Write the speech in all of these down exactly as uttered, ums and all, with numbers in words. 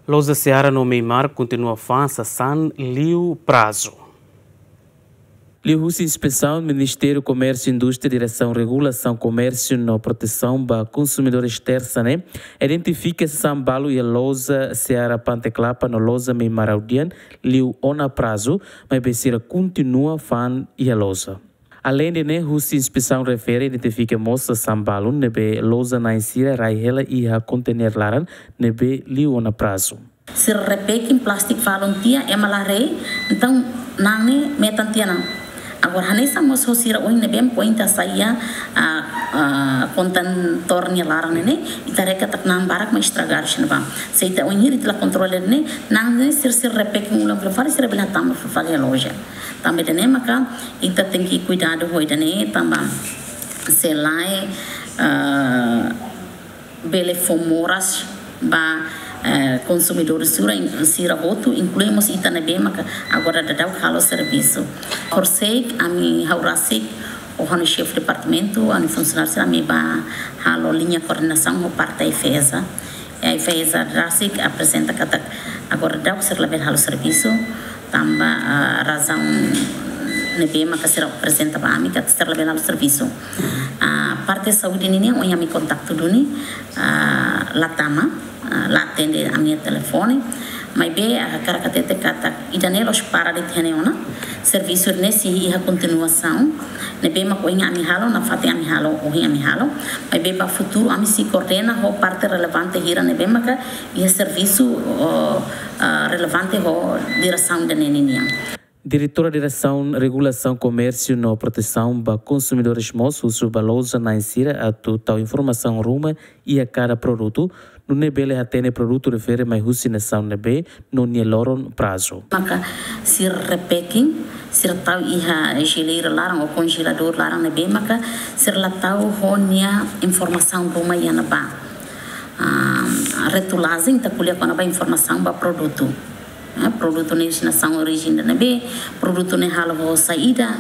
Loja Seara no Meimar kontinua fa'an sasán liu prazu. Liuhusi inspesaun, Ministériu Komérsiu Indústria, Diresaun Regulasaun Komérsiu no Protesaun ba Konsumidores, tersa ne'e identifika sasán balu iha loja Seara Pante Klapa no loja Meimar Audian liu ona prazu, maibé sira kontinua fa'an iha loja. Aleinde ne'e, husi inspesaun refere identifika mós sasán balu ne'ebé loja na'in sira rai hela iha konteiner laran ne'ebé liu ona prazu. Sira repacking plástiku falun tiha, ema la haree, entaun na'an ne'e metan tiha ona. Agora, hanesan mós ho sira ohin ne'ebé mak ohin ita hasai iha, ah, ah, kontentór nia laran ne'e, ita haree katak na'an barak mak estragadu iha ne'ebá. Se ita ohin hira ita la kontrola ne'e, na'an ne'e sira, sira repacking ulang fila fali, sira bele hatama fila fali iha loja. Tanba ida-ne'e maka ita tenke kuidadu ho ida-ne'e, tanba se lae, ah, bele fó moras ba, eh, konsumidór sira, sira hotu, inklui mós ita ne'ebé maka agora daudaun halo servisu. Horisehik ami, ha'u rasik, ho ha'u-nia xefe departamentu, ha'u-nia funsionáriu sira, ami bá halo liña koordenasaun ho parte AIFAESA. AIFAESA rasik aprezenta katak agora daudaun sira labele halo servisu, tanba, ah, razaun ne'ebé maka sira aprezenta ba ami katak sira labele halo servisu. Ah, parte saúde ninian, ohin ami kontaktu duni, ah, la tama, ah, la atende ami-nia telefone. Maibé, ah, hakarak hatete katak ida-ne'e la'ós para de'it iha ne'e ona. Servisu ne'e sei iha kontinuasaun. Ne'ebé mak ohin ami halo, nafatin ami halo, ohin ami halo. Maibé ba futuru ami sei koordena ho parte relevante hira ne'ebé maka iha servisu, oh, ah, relevante ho diresaun ida-ne'e ninian. Diretora Diresaun Regulasaun Komérsiu no Protesaun ba Konsumidores mós husu ba loja na'in sira atu tau informasaun ruma iha kada produtu, nune'e bele hatene produtu refere mai husi nasaun ne'ebé no nia loron prazu. Maka sira repacking, sira tau iha jeleira laran ou konjeladór laran ne'ebé maka sira la tau ho nia informasaun ruma iha ne'ebá. Ah, retulajen ita ko'alia kona-ba informasaun ba produtu. Eh, produtu ne'e destinasaun, orijen ida-ne'ebé, produtu ne'e halo ho saida,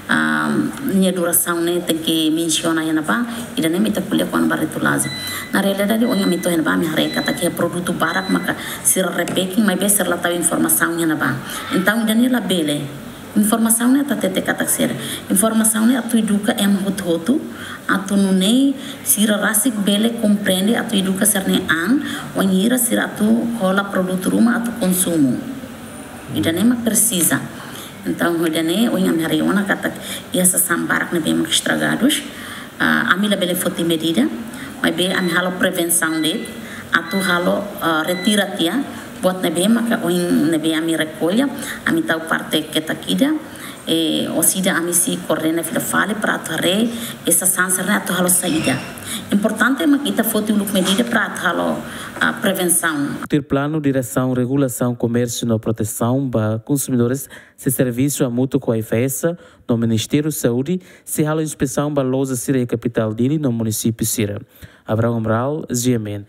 ah, nia durasaun ne'e tenke mensiona iha ne'ebá, ida-ne'e mak ita ko'alia kona-ba retulajen. Na realidade, ohin ami to'o iha ne'ebá, ami haree katak iha produtu barak maka sira repacking, maibé sira la tau informasaun iha ne'ebá. Entaun, ida-ne'e labele. Informasaun ne'e atu hatete katak sira. Informasaun ne'e atu eduka ema hotu-hotu, atu nune'e sira rasik bele komprende, atu eduka sira-nia an, wainhira sira atu hola produtu ruma atu konsumu. Ida-ne'e mak presiza. Entaun, ida-ne'e, ohin ami haree ona katak iha sasán barak ne'ebé mak estragadus. Ah, ami labele foti medida, maibé ami halo prevensaun de'it, atu halo, ah, retira tiha, buat ne'ebé maka ohin ne'ebé ami rekolla, ami tau parte ketak ida, eh, orsida ami sei koordena fila fali para atu haree, eh, sasán sira-ne'e atu halo saida. Importante mak ita foti uluk medida para atu halo, ah, prevensaun. Tuir planu, Diresaun Regulasaun Komérsiu no Protesaun ba Konsumidores sei servisu hamutuk ho AIFAESA no Ministériu Saúde, sei halo inspesaun ba loja sira iha kapitál Dili no munisípiu sira. Abraão Amaral, G M N.